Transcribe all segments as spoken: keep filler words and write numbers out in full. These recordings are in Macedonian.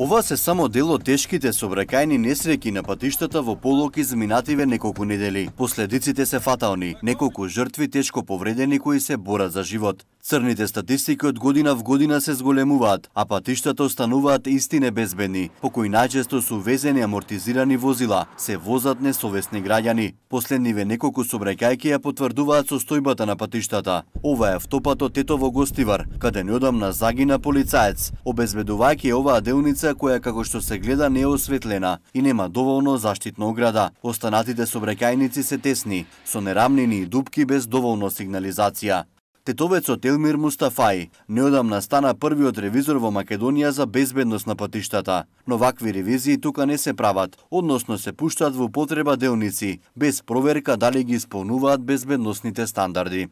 Ова се само дел од тешките сообраќајни несреќи на патиштата во Полок изминативе неколку недели. Последиците се фатални, неколку жртви тешко повредени кои се борат за живот. Црните статистики од година в година се зголемуваат, а патиштата остануваат исти небезбедни, по кои најчесто су везени амортизирани возила, се возат несовесни граѓани. Последниве неколку сообраќајки ја потврдуваат состојбата на патиштата. Ова е автопатот Тетово-Гостивар, каде неодамна загина полицаец, обезбедувајќи оваа делница која како што се гледа не е осветлена и нема доволно заштитна ограда. Останатите сообраќајници се тесни, со нерамнини и дупки без доволно сигнализација. Тетовецот Елмир Мустафаи неодамна стана првиот ревизор во Македонија за безбедност на патиштата, но вакви ревизии тука не се прават, односно се пуштаат во употреба делници, без проверка дали ги исполнуваат безбедносните стандарди.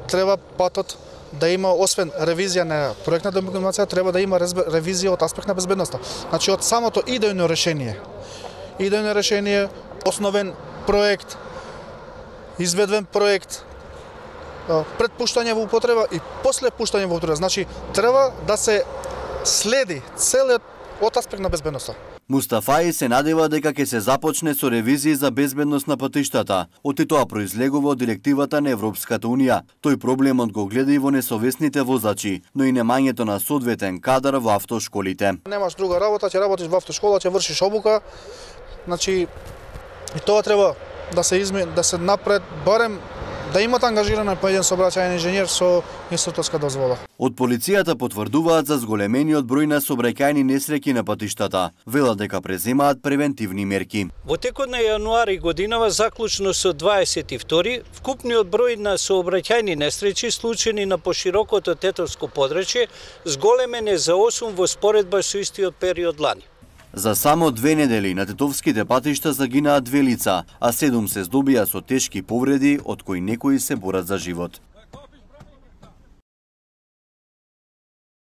Треба патот да има, освен ревизија на проектна документација, треба да има ревизија од аспект на безбедноста. Значи од самото идејно решение. Идејно решение, основен проект, изведен проект, пред пуштање во употреба и после пуштање во употреба. Значи треба да се следи целиот од аспект на безбедноста. Мустафаи се надева дека ќе се започне со ревизии за безбедност на патиштата, од тоа произлегува од директивата на Европската унија. Тој проблемот го гледа и во несовесните возачи, но и немањето на соодветен кадар во автошколите. Немаш друга работа, ќе работиш во автошкола, ќе вршиш обука. Значи и тоа треба да се измени, да се напред барем да имат ангажиран по еден сообраќајен инженер со инструкторска дозвола. Од полицијата потврдуваат за зголемениот број на сообраќајни несреќи на патиштата. Велат дека преземаат превентивни мерки. Во текот на јануари годинава, заклучно со дваесет и втори, вкупниот број на сообраќајни несреќи случени на поширокото тетовско подрачје зголемен е за осум во споредба со истиот период лани. За само две недели на тетовските патишта загинаа две лица, а седум се здобија со тешки повреди, од кои некои се борат за живот.